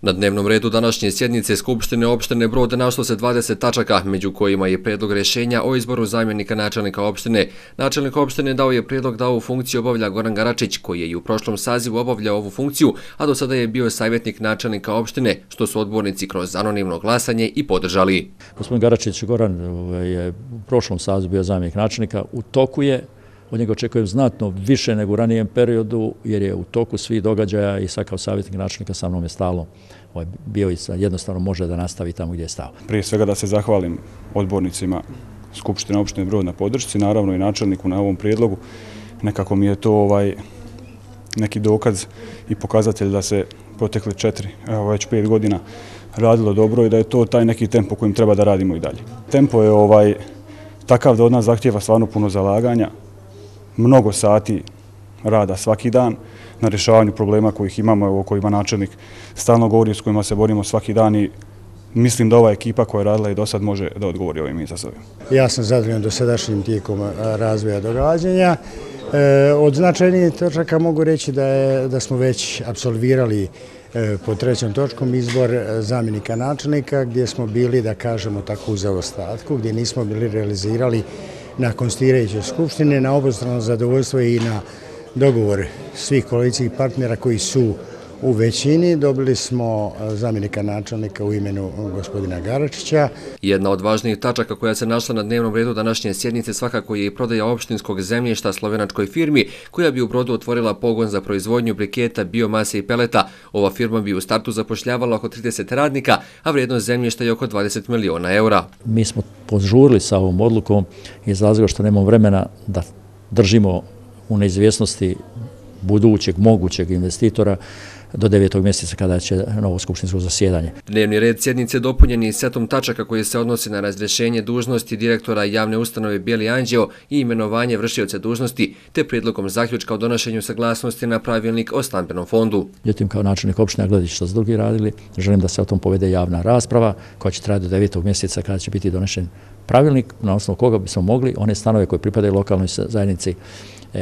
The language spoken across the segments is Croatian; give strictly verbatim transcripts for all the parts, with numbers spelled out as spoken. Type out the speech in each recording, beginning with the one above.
Na dnevnom redu današnje sjednice Skupštine opštine Brod našlo se dvadeset tačaka, među kojima je prijedlog rješenja o izboru zamjenika načelnika opštine. Načelnik opštine dao je prijedlog da ovu funkciju obavlja Goran Garačić, koji je i u prošlom sazivu obavljao ovu funkciju, a do sada je bio savjetnik načelnika opštine, što su odbornici kroz anonimno glasanje i podržali. Gospodin Garačić Goran je u prošlom sazivu bio zamjenik načelnika, u toku je. Od njega očekujem znatno više nego u ranijem periodu, jer je u toku svih događaja i sad kao savjetnik načelnika sa mnom je stalno bio i sad jednostavno može da nastavi tamo gdje je stao. Prije svega da se zahvalim odbornicima Skupštine opštine Brod na podršci, naravno i načelniku na ovom prijedlogu. Nekako mi je to ovaj neki dokaz i pokazatelj da se protekle četiri, evo već pet godina radilo dobro i da je to taj neki tempo kojim treba da radimo i dalje. Tempo je ovaj takav da od nas zahtijeva stvarno puno zalaganja, mnogo sati rada svaki dan na rješavanju problema kojih imamo, o kojima načelnik stalno govori, s kojima se borimo svaki dan i mislim da ova ekipa koja je radila i do sad može da odgovori ovim izazovima. Ja sam zadovoljan dosadašnjim tijekom razvoja događanja. Od značajnijih točaka mogu reći da, je, da smo već apsolvirali po trećom točkom izbor zamjenika načelnika, gdje smo bili, da kažemo tako, u zaostatku, gdje nismo bili realizirali na konstituirajućoj skupštini, na obostrano zadovoljstvo i na dogovor svih koalicijskih partnera koji su u većini. Dobili smo zamjenika načelnika u imenu gospodina Garačića. Jedna od važnijih tačaka koja se našla na dnevnom redu današnje sjednice svakako je i prodaja opštinskog zemljišta slovenačkoj firmi koja bi u Brodu otvorila pogon za proizvodnju briketa, biomase i peleta. Ova firma bi u startu zapošljavala oko trideset radnika, a vrijednost zemljišta je oko dvadeset miliona eura. Mi smo požurili sa ovom odlukom iz razloga što nemamo vremena da držimo u neizvjesnosti budućeg mogućeg investitora do devetog mjeseca kada će novo skupštinsko zasjedanje. Dnevni red sjednice dopunjen je setom tačaka koji se odnosi na razrješenje dužnosti direktora javne ustanove Bijeli anđeo i imenovanje vršioca dužnosti, te prijedlogom zaključka o donošenju saglasnosti na pravilnik o stambenom fondu. Međutim, kao načelnik opštine, gledajući što su drugi radili, želim da se o tom povede javna rasprava koja će trajati do devetog mjeseca kada će biti donešen pravilnik na osnovu koga bismo mogli one stanove koje pripadaju lokalnoj zajednici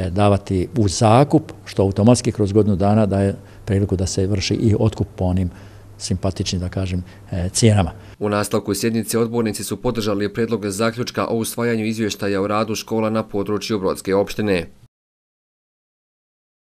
davati u zakup, što automatski kroz godinu dana daje priliku da se vrši i otkup po onim simpatičnim, da kažem, cijenama. U nastavku sjednice odbornici su podržali prijedlog zaključka o usvajanju izvještaja o radu škola na području Brodske opštine.